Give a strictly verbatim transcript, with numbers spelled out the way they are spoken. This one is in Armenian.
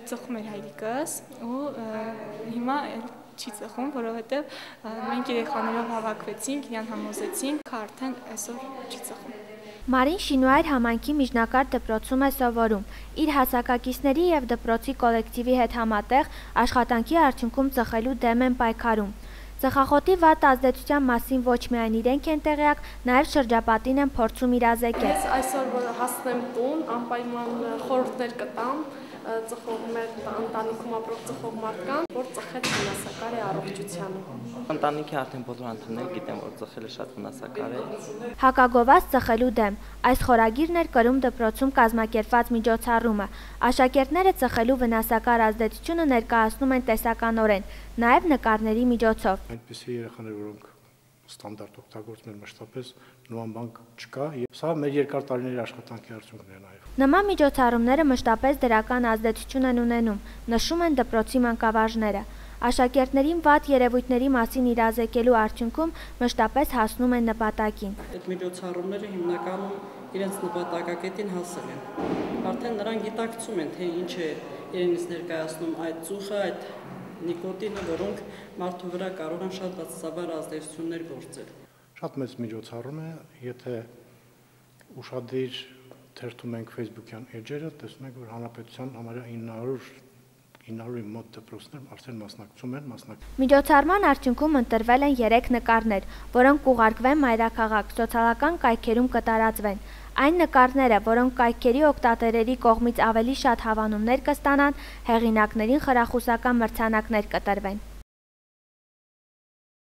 ծխում էր հայրիկս ու հիմա չի ծխում, որովհետև մենք երեխաներով հավաքվեցինք, իրան համոզեցինք, արդեն այսօր չի ծխում։ Մարին Շինուայր համայնքի միջնակարգ դպրոցում է սովորում։ Իր հասակակիցների և դպրոցի կոլեկտիվի հետ համատեղ աշխատանքի արդյունքում ծխելու դեմ են պայքարում։ Ծխախոտի վատ ազդեցության մասին ոչ միայն իրենք են տեղյակ, նաև շրջապատին են փորձում իրազեկել։ Ես այսօր որ հասնեմ տուն, անպայման խորհուրդներ կտամ ծխող մեր ընտանիքում ապրող ծխող մարդկանց, որ ծխել վնասակար է առողջությանը։ Ընտանիքի արդեն բոլոր անդամները գիտեն, որ ծխելը շատ վնասակար է։ Հակագովաց ծխելու դեմ։ Այս խորագիրն էր կրում դպրոցում կազմակերպված միջոցառումը։ Աշակերտները ծխելու վնասակար ազդեցությունը ներկայացնում են տեսականորեն, նաև նկարների միջոցով։ Այնպիսի երեխաներ, որոնք ստանդարտ օգտագործում են մշտապես, նման բան չկա, եւ սա մեր երկար տարիների աշխատանքի արդյունքն է նաև։ Նման միջոցառումները մշտապես դրական ազդեցություն են ունենում, նշում են դպրոցի մանկավարժները։ Աշակերտներին վատ երևույթների մասին իրազեկելու արդյունքում մշտապես հասնում են նպատակին։ Այդ միջոցառումները հիմնականում իրենց նպատակակետին հասել են։ Արդեն նրանք գիտակցում են, թե ինչ է իրենից ներկայացնում այդ ծուխը, այդ նիկոտինը, որոնք մարդու վրա կարող են շատ բացասաբար ազդեցություններ գործել։ Շատ մեծ միջոցառում է, եթե ուշադիր թերթում ենք Facebook-յան էջերը, տեսնում ենք, որ հանրապետության համարյա ինը հարյուր մոտ դպրոցներ արդեն մասնակցում են, մասնակցում։ Միջոցառման արդյունքում ընտրվել են երեք նկարներ, որոնք կուղարկվեն մայրաքաղաք, սոցիալական կայքերում կտարածվեն։ Այն նկարները, որոնք կայքերի օգտատերերի կողմից ավելի շատ հավանումներ կստանան, հեղինակներին խրախուսական մրցանակներ կտրվեն։